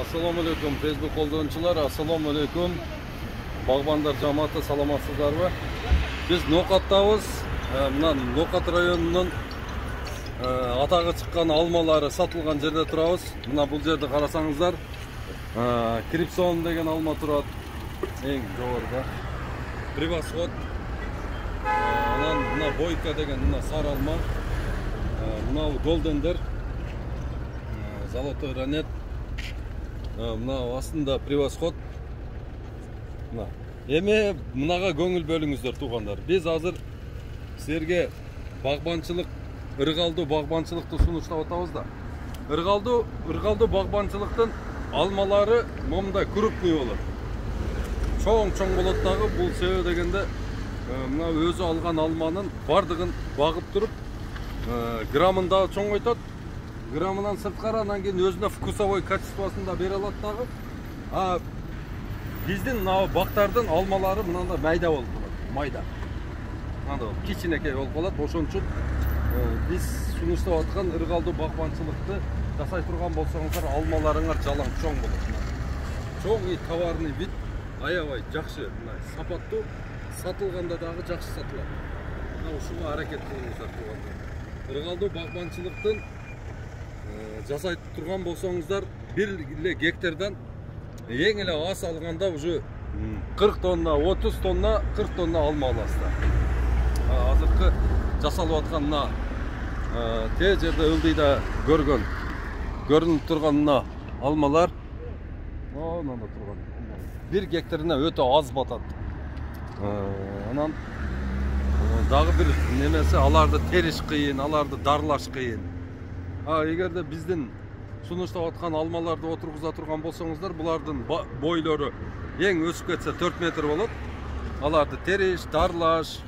Assalomu alaykum Facebook koldoonchulар, assalomu alaykum bag'bonlar jamoati, salomatsizlarmi? Biz No'qatdamiz. Мына No'qat районунун атагы чыккан алмалары сатылган жерде турабыз. Мына бул жерде карасаңыздар, Крипсон деген алма турат. Эң жогоруда. Превосход. Анан мына Бойка деген мына сары алма. Мына Голдендер. Золотой ранет. Мына астында Превосход. Мына. Эми мынага көңүл бөлүңүздөр туугандар. Биз азыр силерге багбанчылык, ыргалдуу багбанчылыкты сунуштап атабыз да. Ыргалдуу багбанчылыктын алмалары момундай крупный болот. Чоң болот дагы. Бул себеби дегенде мына өзү алган алманын бардыгын багып туруп, грамын да чоңойтот. Грамынан сырткары, анан кийин өзүнө вкусовой качествосын да бере алат дагы. Биздин мына бактардын алмалары мындай майда болуп калат. Майда. Мындай кичинекей болуп калат. Ошон үчүн биз сунуштап аткан ыргалдуу багбанчылыкты жасай турган болсоңуздар, алмаларыңар жалаң чоң болот. Чоң и товарный вид, аябай жакшы, мына сапаттуу, сатылганда дагы жакшы сатылат. Мына ушуга аракет кылыңыздар туугандар. Ыргалдуу багбанчылыктын жасай турган болсоңуздар, бир эле гектардан эң эле аз алганда уже 40 тонна, 30 тонна, 40 тонна алма аласыздар. Азыркы жасалып аткан мына те жерде ылдыйда көрүнүп турган мына алмалар, мында турган бир гектарына өтө аз батат. Анан дагы бир немеси, аларды териш кыйын, аларды дарлаш кыйын. Эгерде биздин сунуштап аткан алмаларды отургуза турган болсоңуздар, булардын бойлору эң өсүп кетсе 4 метр болот. Аларды териш, дарлаш,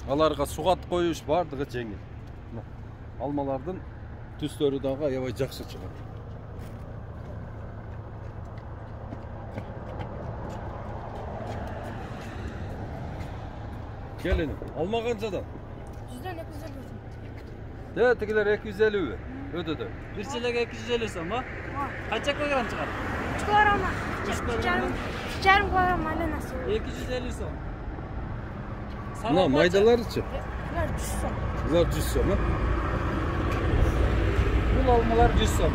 аларга сугат коюш бардыгы жеңил. Алмалардын түстөрү дагы аябай жакшы чыгат. Келин, алма канчадан? 100дөн 250. Тигилер 250 өтөдө. Bir çilek 250 сом, а? Kaça kilogram çıkar? 3 kilogram. 3,5 kilogram maydanoz. 250 сом. Мына майдаларычы? Булар 100 сом. Булар 100 сом, а? Bu almalar 100 сом.